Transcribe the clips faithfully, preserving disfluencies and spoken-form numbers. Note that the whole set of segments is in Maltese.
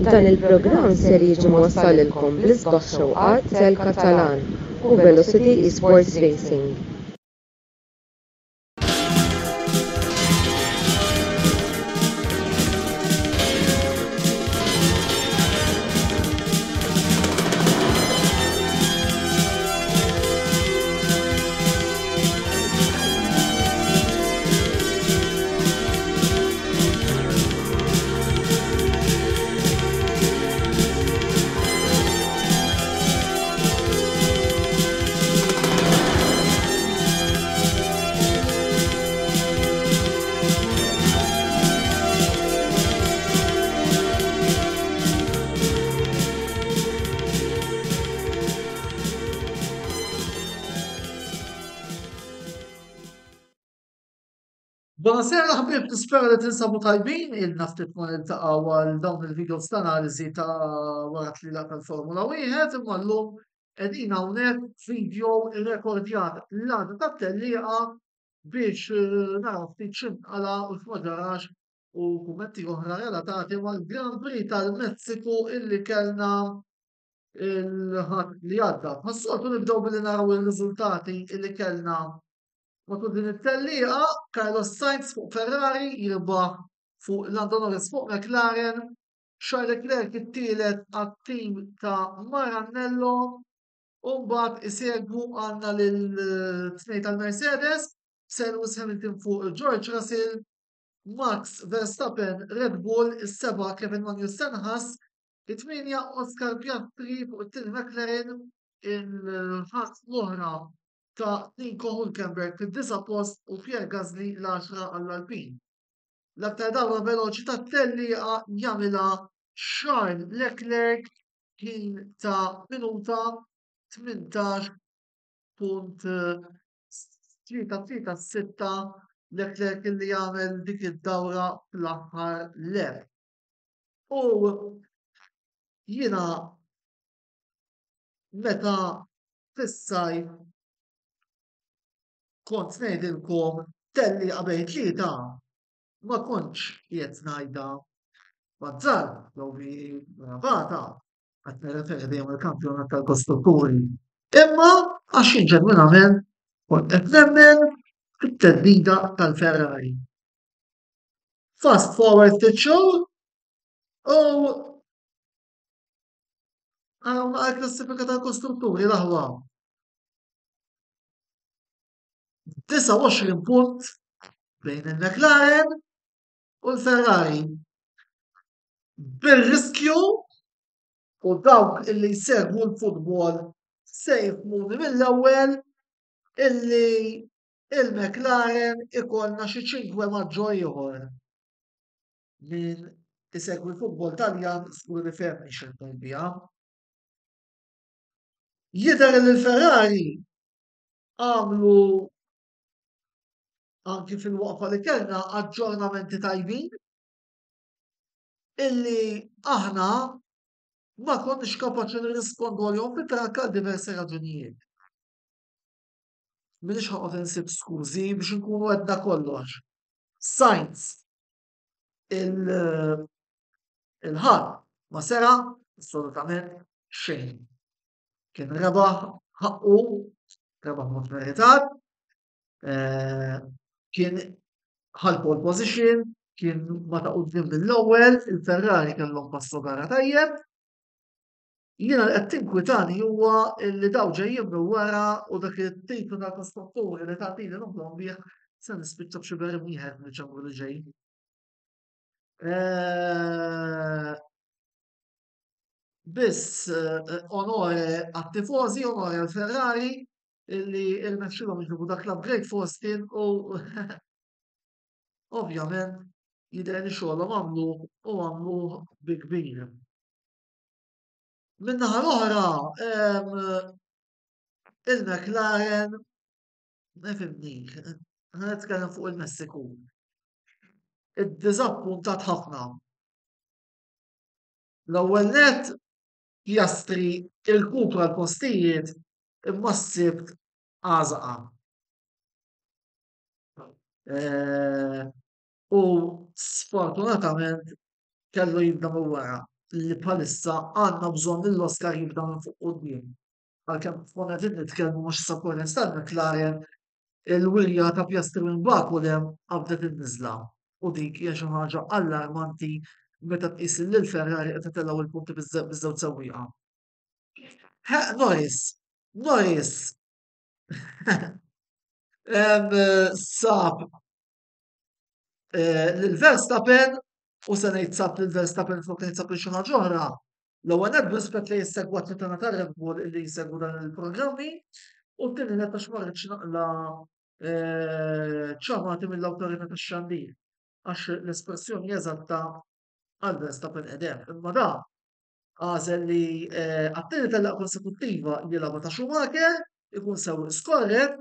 Dan il-programm ser jiġi mwassal lilkom bl-isbaħ xewqat Tel Katalan u Velocity Esports Racing. Buonasera ħbieb, nispera li tinsabu tajbin, ilna ftit ma niltaqgħu għal dawn il-videos ta' analiżi ta' wara tlila tal-Formula wieħed, imma llum qegħdin hawnhekk video irrekordjat l-għada tat-tellieqa biex eh, naraw ftit x'inqala u x'ma ġarax u kummenti oħra relatati mal-Grand Prix tal-Messiku illi kellna il-ħadd li għadda. Bħas-soltu nibdew billi naraw ir-riżultati illi kellna matul din it-tellieqa. Carlos Sainz fuq Ferrari jirbaħ fuq Lando Norris fuq McLaren, Charles Leclerc it-tielet għat-tim ta' Maranello, u mbagħad isegwu għandna lil tnejn tal-Mercedes, Lewis Hamilton fuq George Russell, Max Verstappen Red Bull, is-seba' Kevin Magnussen Haas, it-tmienja Oscar Piastri fuq it-tieni McLaren, il-Haas l-oħra ta' Nico Hülkenberg fid-disa' post u Pierre Gasly l-għaxra għall-Alpine. L-aktar dawra veloċi tat-tellieqa jagħmilha Charles Leclerc ħin ta' minuta tmintax punt tlieta tlieta sitta, Leclerc illi jagħmel dik id-dawra fl-aħħar lap. U jiena meta fis-sajf kont ngħidilkom tellieqa bejn tlieta, ma kontx qiegħed ngħidha bazzar jew bi bravata, qed nirreferi dejjem il-kampjonat tal-kostrutturi. Imma għax jien ġenwinament kont qed nemmen fit-theddida tal-Ferrari. Fast forward ftit xhur u għaraw naqra klassifika tal-kostrutturi l-aħwa. disgħa u għoxrin punt bejn il-McLaren u l-Ferrari. Bir-riskju u dawk illi jsegwu l-futbol se jifhmuni mill-ewwel illi il-McLaren ikollna xi ċinque maġġo ieħor. Min isegwi l-futbol Taljan żgur li fehmni x'qed ngħid biha. Jidher li l-Ferrari għamlu anki fil-waqfa li kellna aġġornamenti tajbin illi aħna ma konniex kapaċi nirrispondu għalihom fit-trakk għal diversi raġunijiet. Minix ħaqgħod insib skużi biex nkunu għedna kollox. Sainz il-ħadd ma sera assolutament xejn. Kien rebaħ ħaqqu, rebaħ mod meritat, eh, kien ħal pole position, kien ma ta' quddiem mill-ewwel, il-Ferrari kellhom passo gara tajjeb. Jiena li qed tinkwitani huwa li daw ġejjin minn wara u dak it-titlu tal-kostrutturi li tagħtini noħlom bih se nispiċċa b'xi berim wieħed mill-ċambru li ġej. Eh, biss eh, onore għat-tifożi, onore għal-Ferrari illi irnexxilhom iġibu dak l-upgrade fostin u ovvjament jidher li xogħolhom għamlu u għamlu bi kbir. Min-naħa l-oħra, il-McLaren, nifhimni, nitkellem fuq il-Messiku. Iddiżappuntat ħafna. L-ewwel nett Piastri irkupra l-postijiet imma s-Sibt għażaqa. Eh, u sfortunatament kellu jibda minn wara. li bħalissa għandna bżonn lil Oscar jibda minn fuq quddiem. Għalkemm konna qegħdin nitkellmu mhux sa korrent tal-McLaren, il-wirja ta' Piastri minn Baku hemm qabdet in-niżla u dik hija xi ħaġa allarmanti meta tqis li l-Ferrari qed itellgħu il-punti biż-żewġ sewwieqa. Norris, Norris sab eh, lil Verstappen u se ngħid sab lil Verstappen flok ngħid sab lil xi ħaġa oħra. L-ewwel nett b'rispett li jissegwa tagħna ta' Red Bull li jsegwu dan il-programmi u t-tieni nett għax ma rridx naqla eh, ċamati mill-awtorità tax-xandir għax l-espressjoni eżatta għal Verstappen edem. Imma da għażel li eh, għat-tieni tellieqa konsekuttiva jilgħabha ta' Schumacher, ikun sew skorret,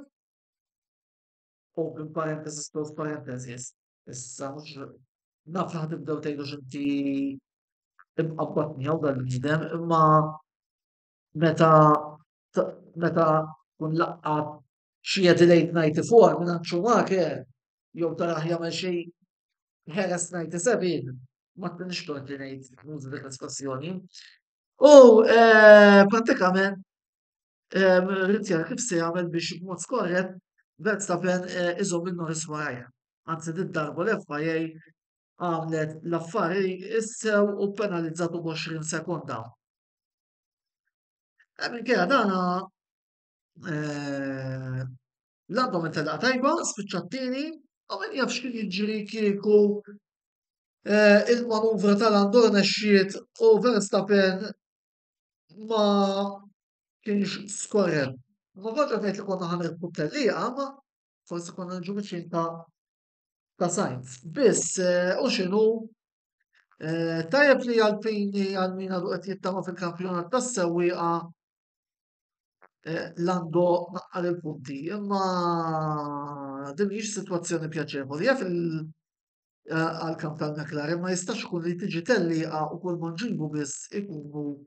open parenthesis, close parenthesis. Issa mhux naf li ħa tibdew tgħidu x'inti imqabbad miegħu dal-bniedem, imma meta meta kun laqqat xi Adelaide disgħa u disgħin minn Schumacher jew taraħ jagħmel xi Jerez disgħa u sebgħin, ma tkunx tort li ngħid nuża dik l-espressjoni. U eh, prattikament ried jara kif se jagħmel biex b'mod skorrett Verstappen eh, iżomm il-Norris warajja. Anzi, dit-darba l-F I A għamlet l-affari issew u penalizzatu b'għoxrin sekonda. Eh, minkejja dana Lando minn tellieqa tajba, spiċċa t-tieni, u min jaf x'kien jiġri kieku il-manuvra ta' Lando rnexxiet u Verstappen ma kienx skorrett. Ma kontra ngħid li konna ħa nirbħu t-tellieqa, ma forsi konna nġu viċin ta' ta' Sainz. Biss, u x'inhu, tajjeb li Alpini, għal min għadu qed jittama fil-kampjonat tas-sewwieqa, Lando naqqar il-punti, imma din mhijiex sitwazzjoni pjaċevoli. Jaf għal-kamp tal-McLaren ma jistax ikun li tiġi tellieqa u kull ma nġibu biss ikunu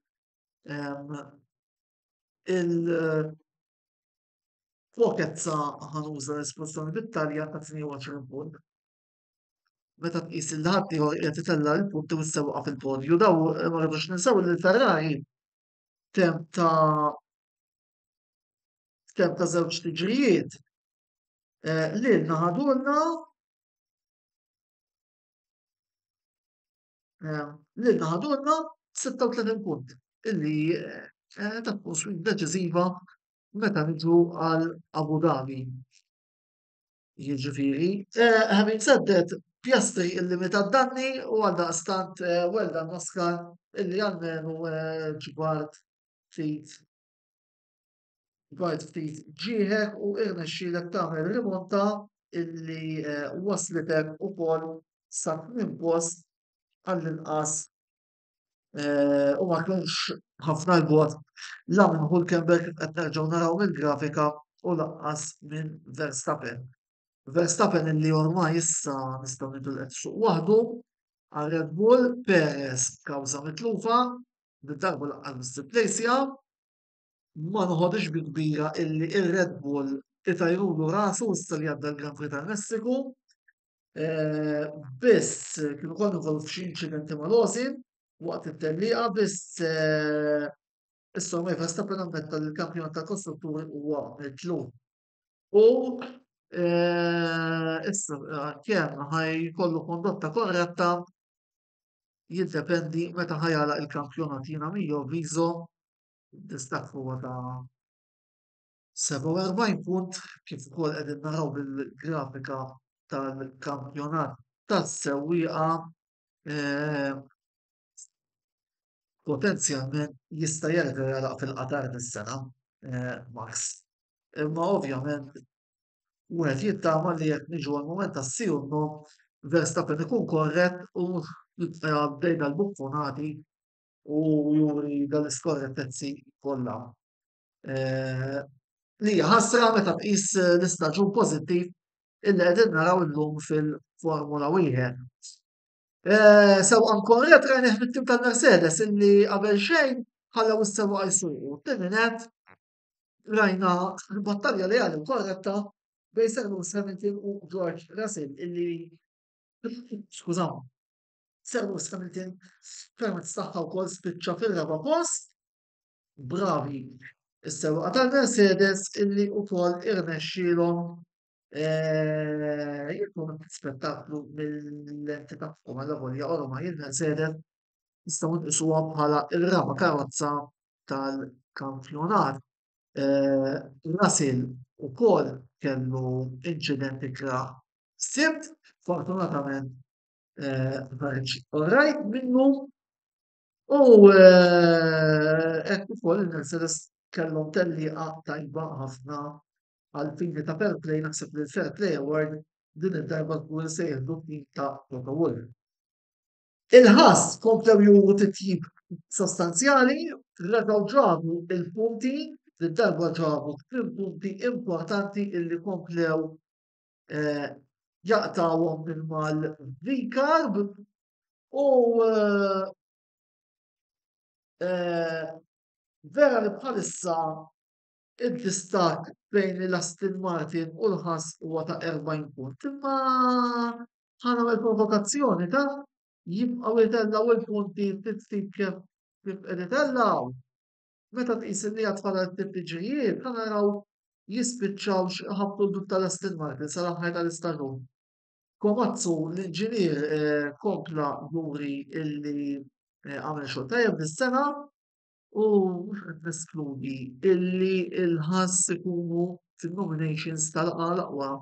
il-pokezza, ħa nuża l-espressjoni bit-Taljan, ta' tnejn u għoxrin punt. Meta tqis il ħadd ieħor qiegħed itella' l-punti u s-sewqa fil-podju, daw ma rridux ninsew li l-Ferrari temp ta' temp ta' żewġ tiġrijiet eh, lilna ħadulna eh, lilna ħadulna sitta u tletin punt illi eh, ta' tkun swing deċiżiva meta niġu għal Abu Dhabi. Jiġifieri, having said that, Piastri illimita danni u għal daqstant well done, Oscar, illi għalmenu ġbart ftit ġbart ftit ġieħek u irnexxielek tagħmel rimonta illi waslitek ukoll sa tmien post għall-inqas u ma kienx ħafna l-bogħod la minn Hulkenberg, kif qed nerġgħu naraw mill-grafika, u lanqas minn Verstappen. Verstappen illi ormai issa nistgħu ngħidu li qed isuq waħdu għal Red Bull, Perez kawża mitlufa, bid-darba lanqas biss ipplejsja, ma noħodix bi kbira illi ir-Red Bull itajrulu rasu issa li għadda l-Grand Prix tal-Messiku. Eh, biss kienu konna involut f'xi inċidenti ma' Lawson waqt it-tellieqa, biss eh, issa ormai Verstappen ammetta li l-kampjonat tal-kostrutturi huwa mitluf. U eh, issa kemm ħa jkollu kondotta korretta jiddependi meta ħa jagħlaq il-kampjonat. Jiena mio avviso distakk huwa ta' sebgħa u erbgħin punt, kif ukoll qegħdin naraw bil-grafika tal-kampjonat tas-sewwieqa, eh, potenzjalment jista' jerġa' jagħlaq fil-qatar dis-sena eh, Max. Imma ovvjament wieħed jittama li jekk niġu għal-mument tas-sì u no, Verstappen ikun korrett u jibqa' għaddej dal-buffonati u juri dal-iskorrettezzi kollha. Eh, li hija ħasra meta tqis l-istaġun pożittiv illi qegħdin naraw illum fil-Formula wieħed. Eh, sewqan korrett rajnieh mit-tim tal-Mercedes illi qabel xejn ħallew is-sewwaqa jsuqu. Tieni net rajna battalja leali u korretta bejn Sir Lewis Hamilton u George Russell illi, skużaw, Sir Lewis Hamilton permezz tagħha wkoll spiċċa fir-raba' post. Bravi is-sewwieqa tal-Mercedes illi wkoll irnexxielhom eh, jkun spettaklu mill-lenti tagħhom għal volja ormai il-Mercedes nistgħu nqisuha bħala r-raba' karozza tal-kampjonat. Eh, Russell ukoll kellu inċident ikrah Sibt, fortunatament eh, ħareġ alright minnu u eh, hekk ukoll il-Mercedes kellhom tellieqa tajba ħafna għal fini ta' fair play. Naħseb li l-Fair Play Award din id-darba tkun se jieħdu tim ta' Toto Wolff. Il-Haas komplew juru titjib sostanzjali, reġgħu ġabu il-punti, darba ġabu tmien punti importanti illi komplew eh, jaqtawhom minn mal-VCARB u eh, eh, vera li bħalissa id-distakk bejn l-Aston Martin u l-Haas huwa ta' erbgħin punt. Imma ħa nagħmel provokazzjoni ta' jibqgħu jtellgħu il-punti ftit kif kif qed itellgħu. Meta tqis li għad fadal ftit tiġrijiet, ħa naraw jispiċċawx ħabtu l-dub tal-Aston Martin sal-aħħar tal-istaġun. Komatsu, l-inġinier, eh, kompla juri illi eh, għamel xogħol tajjeb dis-sena u mhux qed neskludi illi il-Haas ikunu fin-nominations tal-aqwa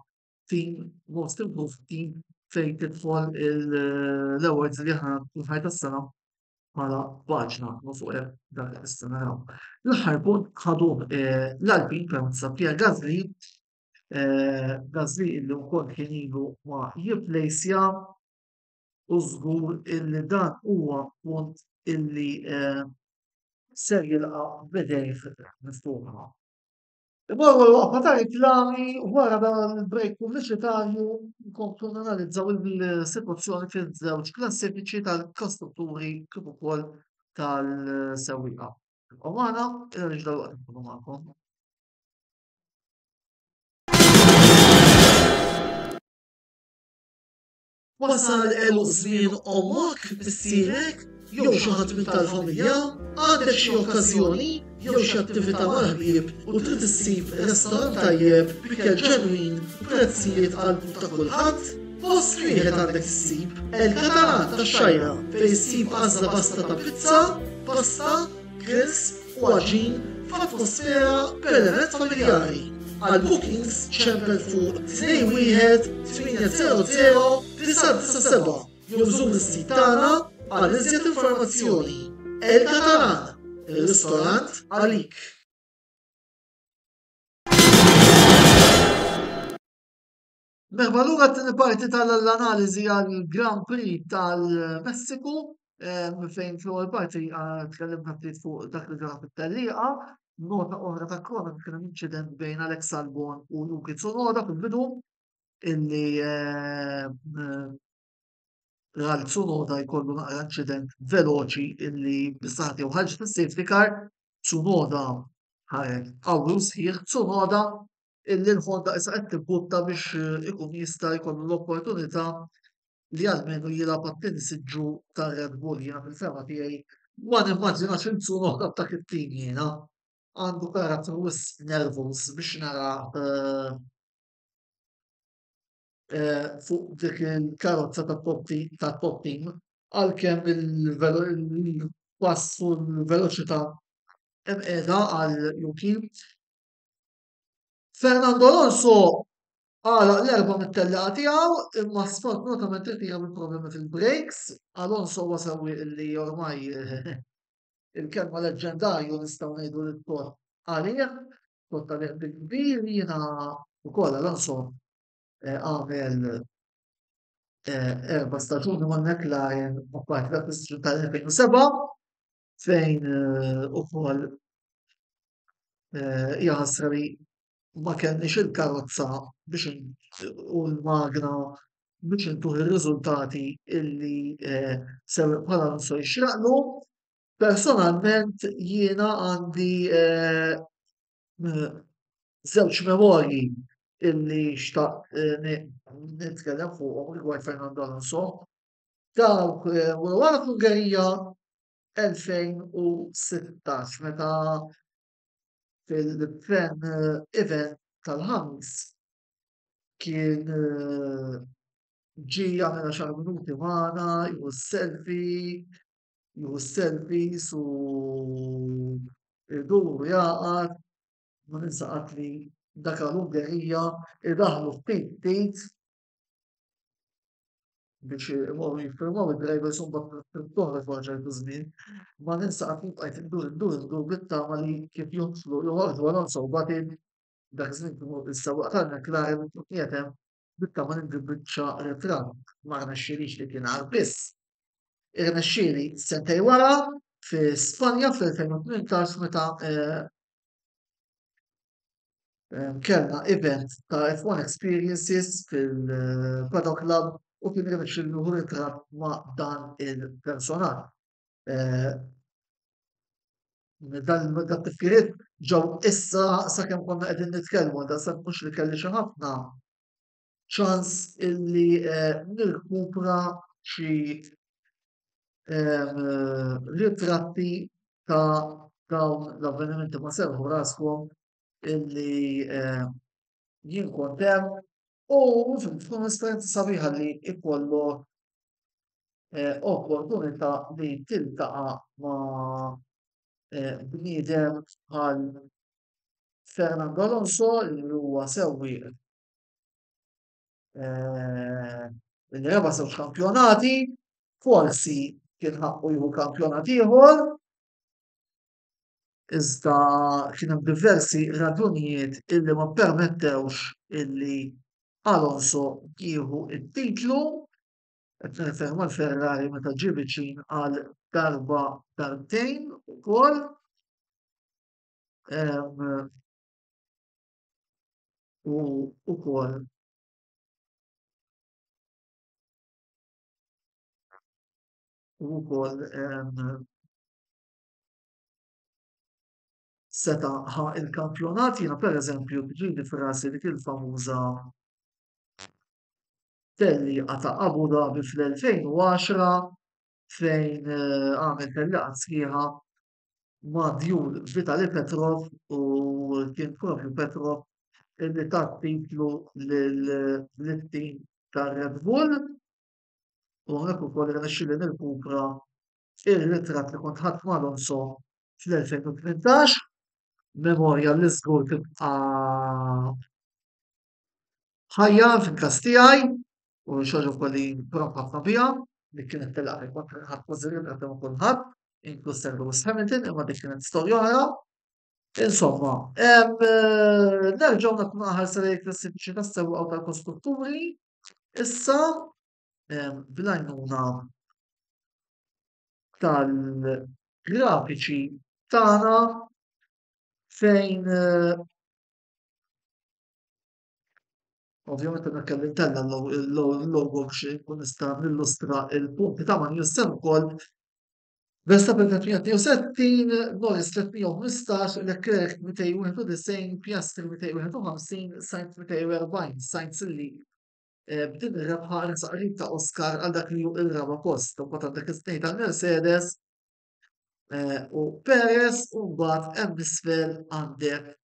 team, most improved team, fejn tidħol l-awards li aħna kull tas-sena bħala paġna ma fuq dak issa naraw. L-aħħar punt ħadu eh, l-Alpine permezz ta' Pierre Gasly, eh, Gasly illi wkoll kien ilu ma jipplejsja u żgur illi dan huwa punt illi eh, ser jilqa' b'idejh miftuħa. Imorru l-waqfa ta' reklami. Wara dan il-break pubbliċitarju nkomplu nanalizzaw il-sitwazzjoni fiż-żewġ klassifiċi tal-kostrutturi kif ukoll tal-sewwieqa. U magħna il dalwaqt nkunu magħkom. Wasal għeluq żmien ommok, missierek, jew xi ħadd minn tal-familja? Għandek xi okkażjoni jew xi attività mal-ħbieb u trid issib restorant tajjeb b'ikel ġenwin u prezzijiet għall-but ta' kulħadd? Post wieħed għandek issib, El Catalan tax-Xgħajra, fejn issib għażla vasta ta' pizza, pasta, grills u għaġin f'atmosfera b'element familjari. Għal bookings ċempel fuq tnejn wieħed tmienja zero zero disgħa disgħa sebgħa jew żur is-sit tagħna għal iżjed informazzjoni. El Catalan, ir-ristorant għalik. Merħba lura t-tieni parti tal-analiżi għal Grand Prix tal-Messiku, fejn fl-ewwel parti eh, tkellimna ftit fuq dak li ġara fit-tellieqa. Nota oħra ta' kronika, kien hemm inċident bejn Alex Albon u Yuki Tsunoda fil-bidu illi eh, ra Tsunoda jkollu naqra inċident veloċi illi bis-saħħa tiegħu ħarġet is-safety car. Tsunoda ħareġ qawwi u sħiħ. Tsunoda illi l-Honda issa qed tibbutta biex eh, ikun jista' jkollu l-opportunità li almenu jilgħab għat-tieni siġġu tar-Red Bull. Jiena fil-fehma tiegħi ma nimmaġinax il Tsunoda b'dak it-tim. Jiena għandu karattru wisq nervuż biex nara eh, eh, fuq dik il-karozza ta' top team, għalkemm il-pass u l-veloċità hemm qiegħda għal Yuki. Fernando Alonso għalaq l-erba' mit-tellieqa tiegħu imma sfortunatament irtira bil problemi fil-brakes. Alonso huwa sewwieq illi ormai il-kelma leġġendarju nistgħu ngħidu li tgħodd għalih, tgħodd għalih bil-kbir. Jiena wkoll Alonso eh, għamel eh, erba' staġuni ma' McLaren, apparti dak l-istaġun tal-elfejn u sebgħa fejn eh, ukoll hija ħasra li ma kellniex il-karozza biex u l-magna biex intuh ir-riżultati illi sewwieq bħala Alonso jixraqlu. Personalment jiena għandi żewġ memorji illi xtaqt nitkellem fuqhom rigward Fernando Alonso. Dawk wara fl-Ungerija elfejn u sittax meta fil-fan event tal-ħamis kien ġie jagħmel għaxar minuti magħna, jieħu selfie, jieħu selfies u idur u jaqgħad. Ma ninsa qatt li dak l-Ungerija idaħlu ftit ftit biex imorru jiffirmaw id-drivers u mbagħad toħroġ wara ċertu żmien. Ma ninsa qatt li bqajt indur indur indur bit-tama li kif jodħlu joħorġu Alonso u Button dak iż-żmien kienu is-sewwieq tal-McLaren u qiegħed hemm bit-tama li nġib biċċa ritratt. Ma rnexxielix li kien għar biss. Irnexxieli sentej wara fi Spanja fl-elfejn u tmintax meta, eh, kellna event ta' F one Experiences fil-Paddock Club u kien irnexxieli nieħu ritratt ma' dan il-personaġġ. Eh, dan it-tifkiriet ġew issa sakemm konna qegħdin nitkellmu, da sa mhux li kelli xi ħafna ċans illi, eh, nirkupra xi, eh, ritratti ta' dawn l-avvenimenti. Ma serħu raskom illi, eh, jien kont hemm u tkun esperjenza sabiħa li ikollok, eh, opportunità li tiltaqa' ma', eh, bniedem bħal Fernando Alonso li huwa sewwieq, eh, li rebaħ żewġ kampjonati, forsi kien ħaqqu jieħu kampjonat ieħor, iżda kien hemm diversi raġunijiet illi ma permettewx illi Alonso jieħu t-titlu. Qed nirreferi mal-Ferrari meta ġie viċin għal darba darbtejn ukoll. Ehm, u ukoll u ukoll, ehm, seta ħa il-kampjonat. Jiena pereżempju ġieli f'rasi dik il-famuża tellieqa ta' Abu Dhabi fl-elfejn u għaxra fejn, eh, għamel tellieqa sħiħa ma' djul Vitali Petrov u kien propju Petrov illi ta titlu lil-tim ta' Red Bull. U hawnhekk ukoll irnexxieli nirkupra ir-ritratt li kont ħadt ma' Alonso fl-elfejn u tmintax, memorja li żgur tibqa' ħajja fil-każ tiegħi u xi ħaġa wkoll li nprof ħafna biha, li kienet telaq li kont ħadd kważi ritratt ma' kulħadd, inkluż Sir Lewis Hamilton, imma dik kienet storja oħra. Insomma, em, nerġgħu nagħtu ħarsa lejn il-klassifiċi tas-sewwieqa u tal-kostrutturi. Issa, em, bl-għajnuna tal-grafiċi tagħna fejn, eh, ovvjament għandna kelli ntella l-logo biex nkun nista' nillustra il-punti ta' Magnussen ukoll. Verstappen tliet mija tnejn u sittin, Norris tliet mija u ħmistax, Leclerc mitejn u wieħed u disgħin, Piastri mitejn u wieħed u ħamsin, Sainz mitejn u erbgħin. Sainz illi, eh, b'din ir-rebħa resaq qrib ta' Oscar għal dak li hu ir-raba' post. Imbagħad għandek is-tnejn tal-Mercedes, eh, u Perez, u mbagħad hemm isfel għandek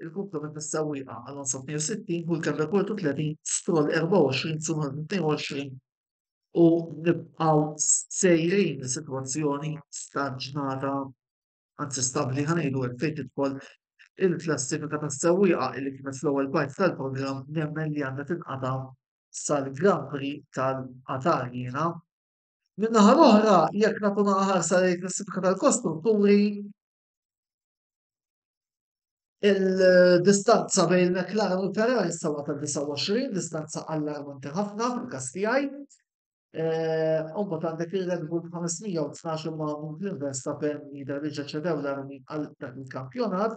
il-komplement tas-sewwieqa. Alonso tnejn u sittin, Hülkenberg wieħed u tletin, Stroll erbgħa u għoxrin, Tsunoda tnejn u għoxrin, u nibqgħu sejrin sitwazzjoni staġnata, anzi stabbli ħa ngħidu hekk, fejn tidħol il-klassifika tas-sewwieqa li kienet fl-ewwel parti tal-programm nemmen li għandha tinqata' sal-Grand Prix tal-Qatar jiena. Min-naħa l-oħra, jekk nagħtu ħarsa lejn il-klassifika tal-kostrutturi, il-distanza bejn il-McLaren u l-Ferrari sawa ta' disgħa u għoxrin, distanza allarmanti ħafna fil-każ tiegħi. Eh, u mbagħad għandek il-Red Bull ħames mija u tnax imma minn Verstappen jidher li ġa ċedew l-armi għal dak il-kampjonat.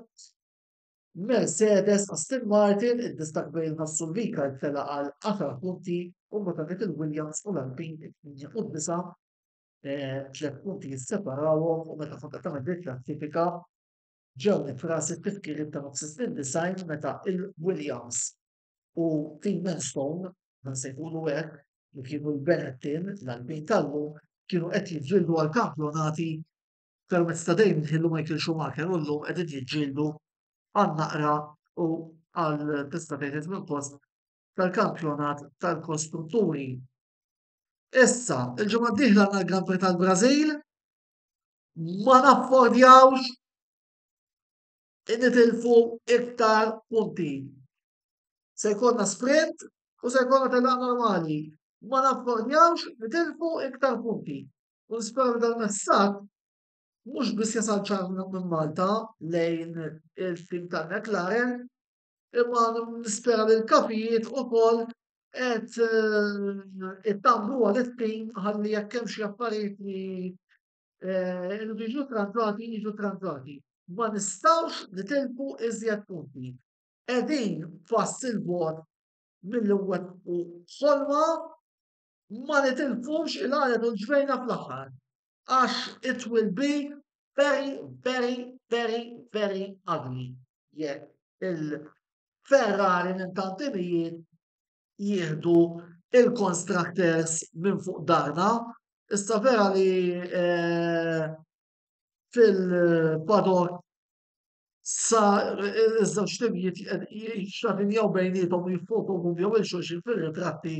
Mercedes, Aston Martin, id-distakk bejn Haas u l-Vika tela għal għaxar punti, u mbagħad għandek il-Williams u l-Alpine it-tmienja u d-disa', eh, tliet punti jisseparawhom, u meta kont qed tagħmel dik klassifika ġew nifrasi t-tifkiriet ta' nofs is-snin design meta il-Williams u Team Enstone, nsejħulu hekk, li kienu l-Benetton, l-Alpine tal-lum, kienu qed jiġġieldu għal kampjonati permezz ta' Damon Hill u Michael Schumacher u llum qegħdin jiġġieldu għal naqra u għal tista' tgħid minn post tal-kampjonat tal-kostrutturi. Issa, il-ġimgħa d-dieħla għandna l-Grand Prix tal-Brażil, ma naffordjawx nitilfu iktar punti. Se jkollna sprint u se jkollna tellieqa normali. Ma naffordjawx nitilfu iktar punti. U nispera li dal-messaġġ mhux biss jasal ċar minn Malta lejn il-tim tal-McLaren, imma nispera li l-kapijiet ukoll qed ittambru għal it-tim ħalli jekk hemm xi affarijiet li iridu jiġu tranżati, jiġu tranżati. Ma nistgħux nitilfu iżjed punti. Qegħdin pass il-bogħod milli nwettqu ħolma, ma nitilfux il-għalet u l-ġbejna fl-aħħar. Għax it will be very, very, very, very ugly. Jekk il-Ferrari minn tant timijiet jieħdu il-constructors minn fuq darna. Issa vera li eh, fil-paddock sa iż-żewġ timijiet jixxatinjaw bejniethom u jiffotokompjaw lil xulxin fir-ritratti.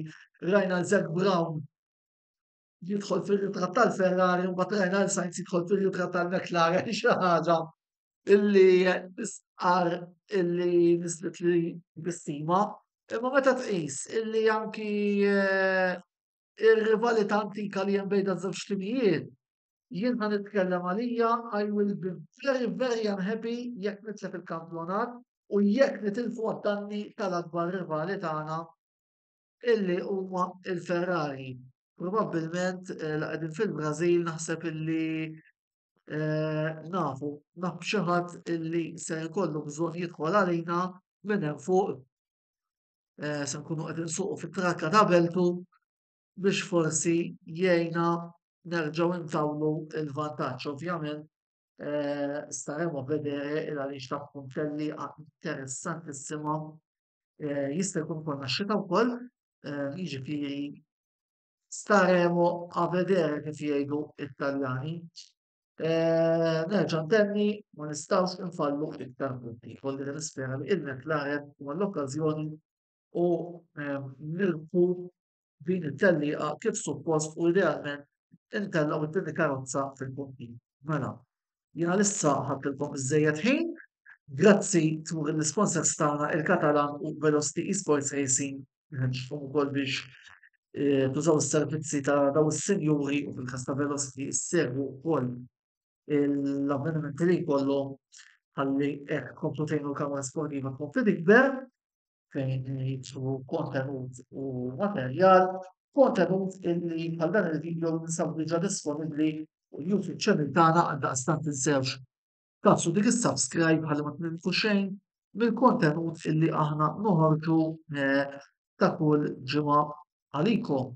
Rajna Zac Brown jidħol fir-ritratt tal-Ferrari u mbagħad rajna l Sainz jidħol fir-ritratt tal-McLaren, xi ħaġa illi nisqar illi nislet li bistima. Imma meta tqis illi anki eh, ir-rivalità antika li hemm bejn żewġ timijiet, jien ħa nitkellem għalija, I will be very, very unhappy jekk nitlef il-kampjonat u jekk nitilfu għad-danni tal-akbar rivali tagħna illi huma il-Ferrari. Probabbilment eh, la qegħdin fil-Brażil naħseb illi eh, nafu, naf xi ħadd illi se jkollu bżonn jidħol għalina minn hemm fuq, eh, se nkunu qed insuqu fit-trakka ta' Beltu biex forsi jgħinna nerġgħu intawlu il-vantaġġ. Ovvjament eh, staremo a vedere il għaliex ta' tkun tellieqa interessantissima. Eh, jista' jkun konna xita wkoll, eh, jiġifieri staremo a vedere kif jgħidu it-Taljani. Eh, nerġa' ntenni, ma nistgħux infallu iktar punti. Kolli nispera li il-McLaren huma l-okkażjoni u ehm, nirbħu din it-tellieqa kif suppost u idealment intellgħu it-tieni karozza fil-punti. Mela, jiena issa ħadtilkom iżejjed ħin. Grazzi tmur l-sponsors tagħna il-Katalan u Velocity Esports Racing. Nħeġġkom ukoll biex eh, tużaw is-servizzi ta' daw is-sinjuri u fil-każ ta' Velocity issegwu wkoll l-avvenimenti li jkollhom ħalli hekk komplu tgħinu l-kamra sportiva tkompli tikber fejn jitlu kontenut u materjal, kontenut illi bħal dan il-video ninsabu diġà disponibbli fuq il-YouTube channel tagħna. Għaldaqstant tinsewx tagħfsu dik is-subscribe ħalli ma tintilfu xejn mill-kontenut illi aħna noħorġu eh, ta' kull ġimgħa għalikom.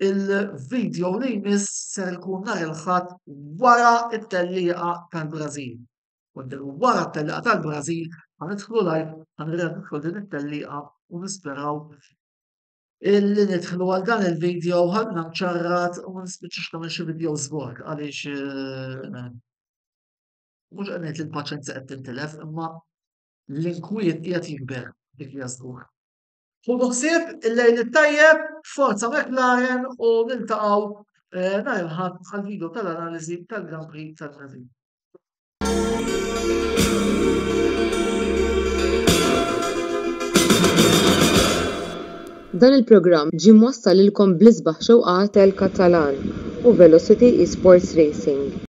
Il-video li jmiss ser ikun nhar il-Ħadd wara t-tellieqa tal-Brażil. Wara t-tellieqa tal-Brażil ħa nidħlu live, ħa nidħlu din it-tellieqa u nisperaw illi nidħlu għal dan il-video ħadna mċarrat u ma nispiċċax nagħmel xi video żborg għaliex eh, mhux qed ngħid li l-paċenzja qed tintilef, imma l-inkwiet qiegħed jikber, dik hija żgur. Ħudu ħsieb, il-lejl it-tajjeb, forza McLaren u niltaqgħu eh, nhar il-Ħadd għal-video tal-analiżi tal-Grand Prix tal-Brażil. Dan il-programm ġie mwassal lilkom bl-isbaħ xewqat El Catalan u Velocity Esports Racing.